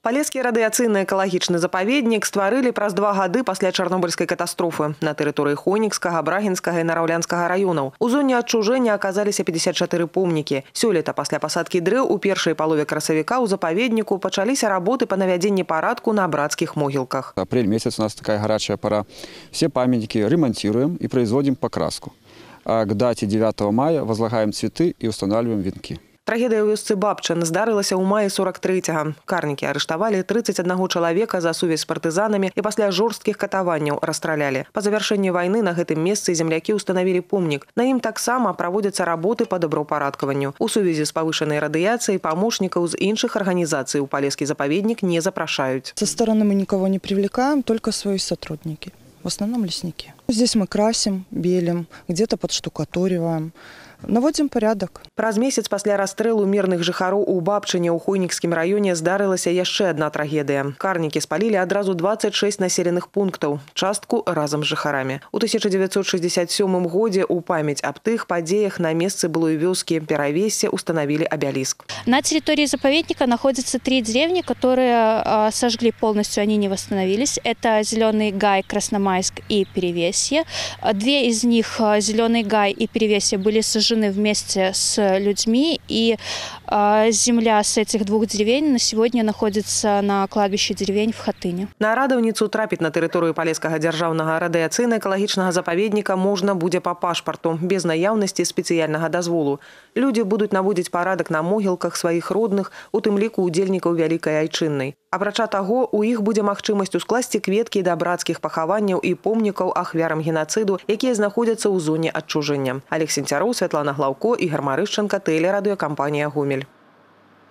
Палескі радыяцыйны экалагічны запаведнік стварылі праз 2 гады пасля чарнобыльскай катастрофы на тэрыторыі Хонікскага, Брагінскага і Нараўлянскага раёнаў. У зоне адчужэння аказаліся 54 помнікі. Сёлета пасля пасадкі дрэў у першай палове красавіка ў запаведніку пачаліся работы па навядзенні парадку на брацкіх могілках. Апрель месяц у нас такая горячая пора. Все памятники ремонтируем и производим покраску. А к дате 9 мая возлагаем цветы и устанавливаем венки. Трагедыя ў вёсцы Бабчын здарылася ў маі 43-го. Карнікі арыштавалі 31 чалавека за сувязь з партызанамі і пасля жорсткіх катаванняў расстралялі. Па завяршэнні вайны на гэтым месцы землякі ўстанавілі помнік. На ім таксама праводзяцца работы па добраўпарадкаванню. У сувязі з павышанай радыяцыяй памочнікаў з іншых арганізацый у палескі запаведнік не запрашаюць. Со стороны мы никого не привлекаем, только свои сотрудники. В основном лесники. Здесь мы красим, белим, где-то подштукатуриваем. Наводзім порядок. Праз месяц пасля расстрэлу мірных жыхароў у Бабчыне ў Хойнікскім раёне здарылася яшчэ адна трагедыя. Карнікі спалілі адразу 26 населеных пунктаў, частку разам з жыхарамі. У 1967 годзе ў памяць аб тых падзеях на месцы былой вёскі Перавессе установили обелиск. На территории заповедника находятся 3 деревни, которые сожгли полностью, они не восстановились. Это Зеленый Гай, Красномайск и Перевесье. 2 из них, Зеленый Гай и Перевесье, были сожжены вместе с людьми, и земля с этих 2 деревень на сегодня находится на кладбище деревень в Хатыне. На радаўніцу трапіць на тэрыторыю Палескага дзяржаўнага радыяцыйна-экалагічнага запаведніка можна будзе па пашпарту, без наяўнасці спецыяльнага дазволу. Людзі будуць наводзіць парадак на могілках сваіх родных, у тым ліку удзельнікаў Вялікай Айчыннай. Апрача таго, у іх будзе магчымасць ускласці кветкі да брацкіх пахаванняў і помнікаў ахвярам генацыду, якія знаходзяцца ў зоне адчужэння. Олег Сенцяроў, Святлана Глаўко, Ігор Марышченко, тэлерадыёкампанія «Гомель».